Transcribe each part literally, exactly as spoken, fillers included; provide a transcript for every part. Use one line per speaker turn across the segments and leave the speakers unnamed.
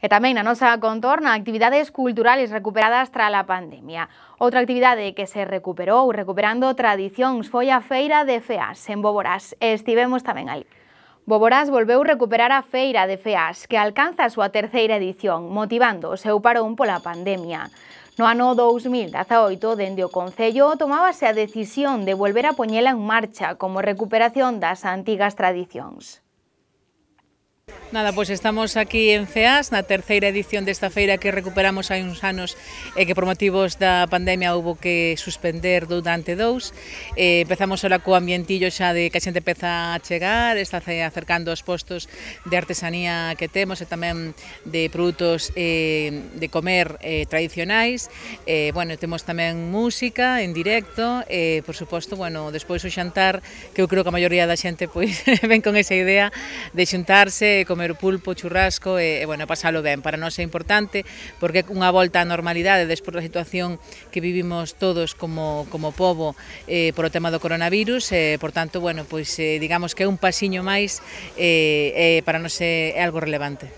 E tamén na nosa contorna actividades culturales recuperadas tras a pandemia. Outra actividade que se recuperou recuperando tradicións foi a Feira de Feas en Boborás e estivemos tamén ali. Boborás volveu recuperar a Feira de Feas, que alcanza a súa terceira edición, motivando o seu parón pola pandemia. No ano dous mil dezaoito, dende o Concello, tomábase a decisión de volver a poñela en marcha como recuperación das antigas tradicións.
Nada, pois estamos aquí en Feas, na terceira edición desta feira que recuperamos hai uns anos e que por motivos da pandemia houve que suspender durante dous. Eh, empezamos ora co ambientillo xa de que a xente empeza a chegar, está acercando os postos de artesanía que temos e tamén de produtos eh, de comer eh, tradicionais. Eh, bueno, temos tamén música en directo e, por suposto, bueno, despois o xantar, que eu creo que a maioría da xente pois ven con esa idea de xuntarse, comer pulpo, churrasco e, e bueno, pasalo ben. Para nós é importante porque é unha volta á normalidade despois da situación que vivimos todos como, como pobo eh, por o tema do coronavirus e, por tanto, bueno, pois eh, digamos que é un pasiño máis e eh, eh, para nós é, é algo relevante.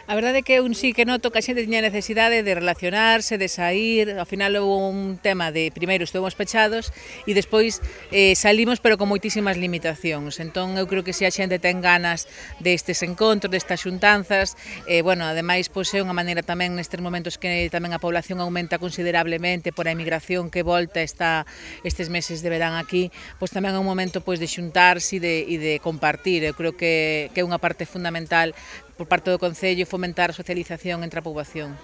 A verdade é que un sí que noto que a xente tiña necesidade de relacionarse, de sair, ao final houve un tema de primeiro estuvemos pechados e despois eh, salimos pero con moitísimas limitacións, entón eu creo que se a xente ten ganas destes encontros, destas xuntanzas, eh, bueno, ademais pois é unha maneira tamén nestes momentos que tamén a población aumenta considerablemente por a emigración que volta está estes meses de verán aquí, pois tamén é un momento pois de xuntarse e de, e de compartir, eu creo que, que é unha parte fundamental por parte do Concello fomentar a socialización entre a poboación.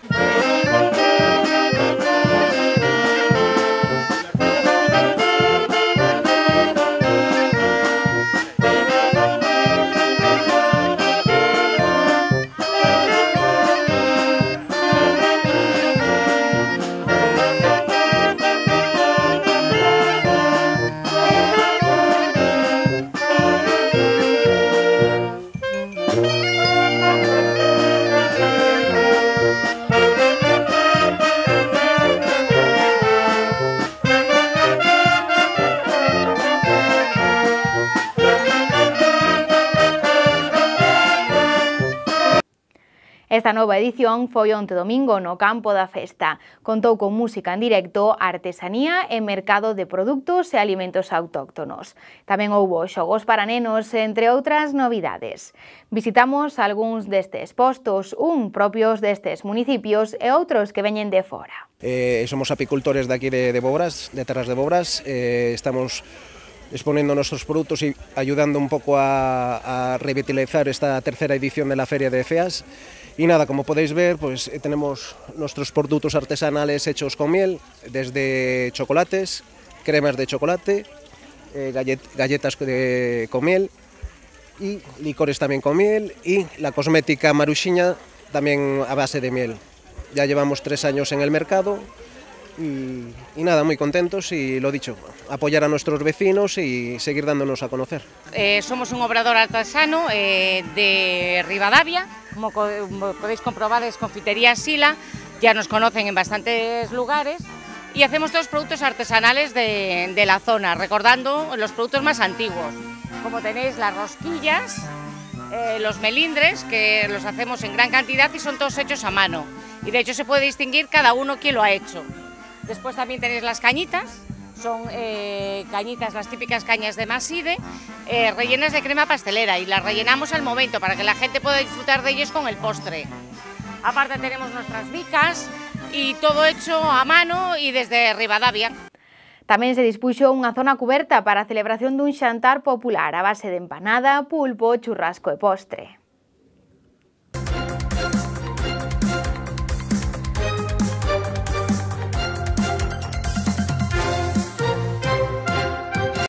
Esta nova edición foi onte domingo no Campo da Festa. Contou con música en directo, artesanía e mercado de produtos e alimentos autóctonos. Tamén houbo xogos para nenos, entre outras novidades. Visitamos algúns destes postos, un propios destes municipios e outros que veñen de fora.
Eh, somos apicultores de aquí de, de Boborás, de Terras de Boborás. Eh, estamos exponiendo nuestros productos y ayudando un poco a, a revitalizar esta tercera edición de la Feria de Feas. Y nada, como podéis ver, pues tenemos nuestros productos artesanales hechos con miel, desde chocolates, cremas de chocolate, eh, gallet, galletas de, con miel y licores también con miel y la cosmética Maruxiña también a base de miel. Ya llevamos tres años en el mercado y, y nada, muy contentos y lo dicho, apoyar a nuestros vecinos y seguir dándonos a conocer.
Eh, somos un obrador artesano eh, de Ribadavia. Como podéis comprobar, es Confitería Sila, ya nos conocen en bastantes lugares y hacemos todos productos artesanales de, de la zona, recordando los productos más antiguos, como tenéis las rosquillas, eh, los melindres, que los hacemos en gran cantidad y son todos hechos a mano, y de hecho se puede distinguir cada uno quién lo ha hecho. Después también tenéis las cañitas, son eh, cañitas, las típicas cañas de Maside, eh, rellenas de crema pastelera y las rellenamos al momento para que la gente pueda disfrutar de ellos con el postre. Aparte tenemos nuestras bicas y todo hecho a mano y desde Ribadavia.
Tamén se dispuxo unha zona cuberta para a celebración dun xantar popular a base de empanada, pulpo, churrasco e postre.